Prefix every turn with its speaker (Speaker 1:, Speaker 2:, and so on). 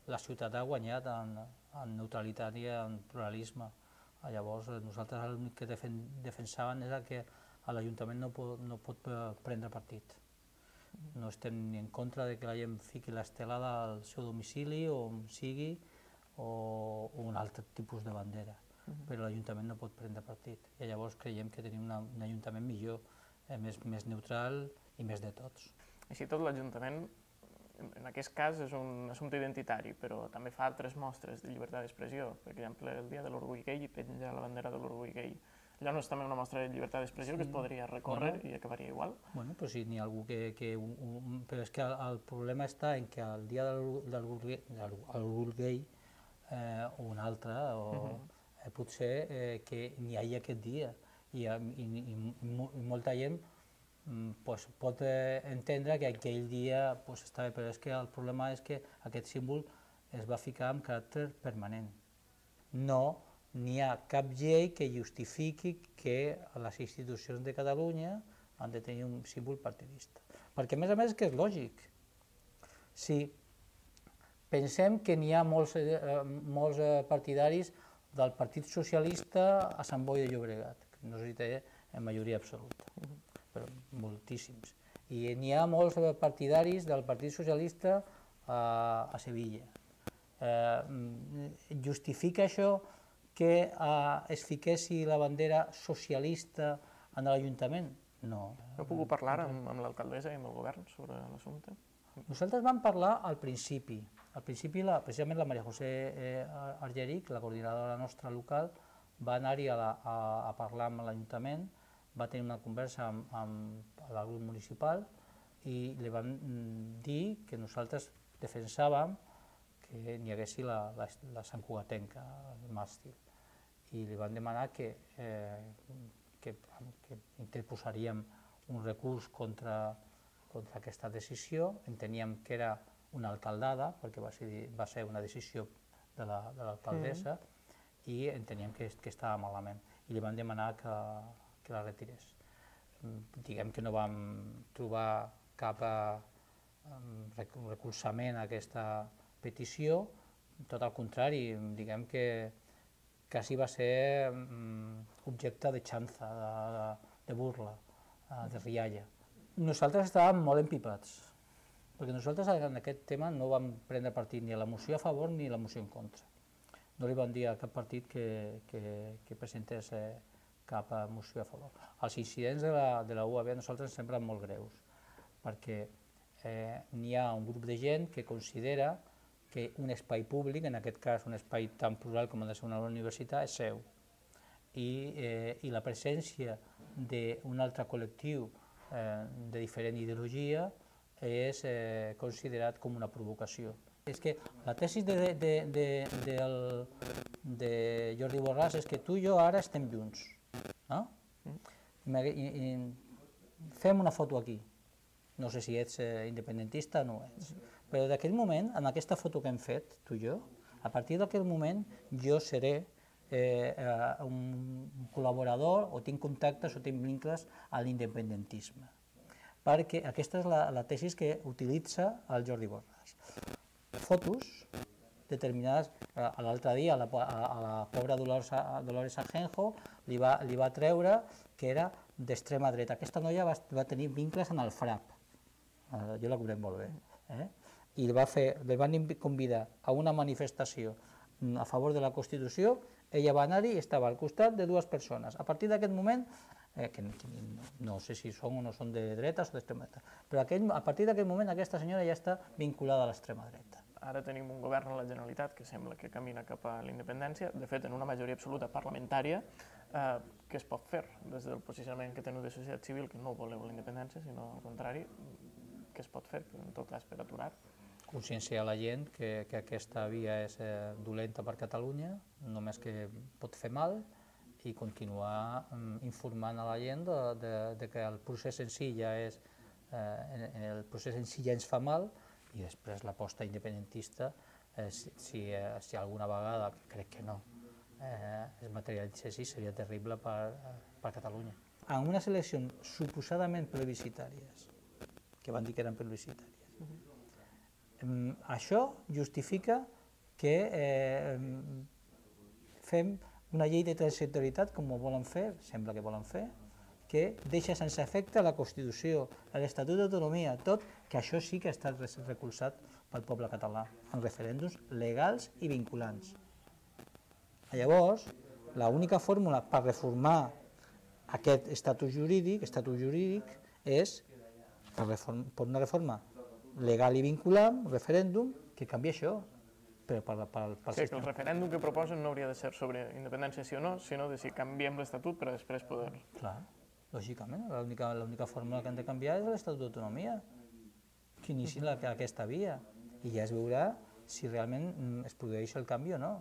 Speaker 1: la ciutat ha guanyat en neutralitat i en pluralisme. Llavors nosaltres l'únic que defensàvem era que l'Ajuntament no pot prendre partit. No estem ni en contra de que la gent fiqui l'estelada al seu domicili o on sigui o un altre tipus de bandera, però l'Ajuntament no pot prendre partit. I llavors creiem que tenim un Ajuntament millor, més neutral i més de tots.
Speaker 2: Així tot, l'Ajuntament, en aquest cas, és un assumpte identitari, però també fa altres mostres de llibertat d'expressió. Per exemple, el dia de l'orgull gai i penja la bandera de l'orgull gai. Allò no és també una mostra de llibertat d'expressió que es podria recórrer i acabaria igual? Bueno,
Speaker 1: però sí, n'hi ha algú que... Però és que el problema està en que el dia de l'orgull gai o un altre, potser que n'hi hagi aquest dia i molta gent pot entendre que aquell dia està bé, però és que el problema és que aquest símbol es va ficar amb caràcter permanent. No n'hi ha cap llei que justifiqui que les institucions de Catalunya han de tenir un símbol partidista. Perquè, a més, que és lògic. Si pensem que n'hi ha molts partidaris del Partit Socialista a Sant Boi de Llobregat, que no sé si té en majoria absoluta, però moltíssims. I n'hi ha molts partidaris del Partit Socialista a Sevilla. Justifica això que es fiquessi la bandera socialista en l'Ajuntament? No.
Speaker 2: Heu pogut parlar amb l'alcaldessa i amb el govern sobre l'assumpte?
Speaker 1: Nosaltres vam parlar al principi. Al principi, precisament la Maria José Argeric, la coordinadora nostra local, va anar-hi a parlar amb l'Ajuntament, va tenir una conversa amb el grup municipal i li van dir que nosaltres defensàvem que n'hi haguessi la Sant Cugatenca, el màstil, i li van demanar que interposaríem un recurs contra aquesta decisió. Enteníem que era una alcaldada, perquè va ser una decisió de l'alcaldessa, i enteníem que estava malament, i li van demanar que la retirés. Diguem que no vam trobar cap recolzament a aquesta petició, tot al contrari, diguem que quasi va ser objecte de xanza, de burla, de rialla. Nosaltres estàvem molt empipats, perquè nosaltres en aquest tema no vam prendre partit ni a la moció a favor ni a la moció en contra. No li vam dir a cap partit que presentés cap moció a favor. Els incidents de la UAB a nosaltres ens semblen molt greus, perquè n'hi ha un grup de gent que considera que un espai públic, en aquest cas un espai tan plural com ha de ser una universitat, és seu. I la presència d'un altre col·lectiu de diferent ideologia és considerat com una provocació. És que la tesi de Jordi Borràs és que tu i jo ara estem junts. Fem una foto aquí. No sé si ets independentista o no ets, però d'aquell moment, en aquesta foto que hem fet, tu i jo, a partir d'aquell moment jo seré un col·laborador o tinc contactes o tinc vincles a l'independentisme, perquè aquesta és la tesi que utilitza el Jordi Borràs. Fotos determinades, l'altre dia a la pobra Dolores Ajenjo li va treure que era d'extrema dreta. Aquesta noia va tenir vincles en el FRAP, jo la conec molt bé, i li van convidar a una manifestació a favor de la Constitució, ella va anar-hi i estava al costat de dues persones. A partir d'aquest moment, que no sé si són o no són de dretes o d'extrema dreta, però a partir d'aquest moment aquesta senyora ja està vinculada a l'extrema dreta.
Speaker 2: Ara tenim un govern a la Generalitat que sembla que camina cap a la independència, de fet, en una majoria absoluta parlamentària. Què es pot fer des del posicionament que teniu de societat civil, que no voleu la independència, sinó al contrari, què es pot fer, en tot cas, per aturar?
Speaker 1: Conscienciar la gent que aquesta via és dolenta per Catalunya, només que pot fer mal, i continuar informant a la gent que el procés en si ja ens fa mal, i després l'aposta independentista, si alguna vegada, crec que no, es materialitzés, seria terrible per Catalunya. En unes eleccions suposadament plebiscitàries, que van dir que eren plebiscitàries, això justifica que fem una llei de transitorietat, com ho volen fer, sembla que volen fer, que deixa sense efecte la Constitució, l'Estatut d'Autonomia, tot, que això sí que ha estat recolzat pel poble català, en referèndums legals i vinculants. Llavors, l'única fórmula per reformar aquest estatus jurídic és per una reforma legal i vinculant, un referèndum, que canvia això. Però
Speaker 2: sí, que el referèndum que proposen no hauria de ser sobre independència sí o no, sinó de si canviem l'Estatut per a després poder...
Speaker 1: Clar, lògicament, l'única fórmula que han de canviar és l'Estatut d'Autonomia, que inici aquesta via, i ja es veurà si realment es produeix el canvi o no.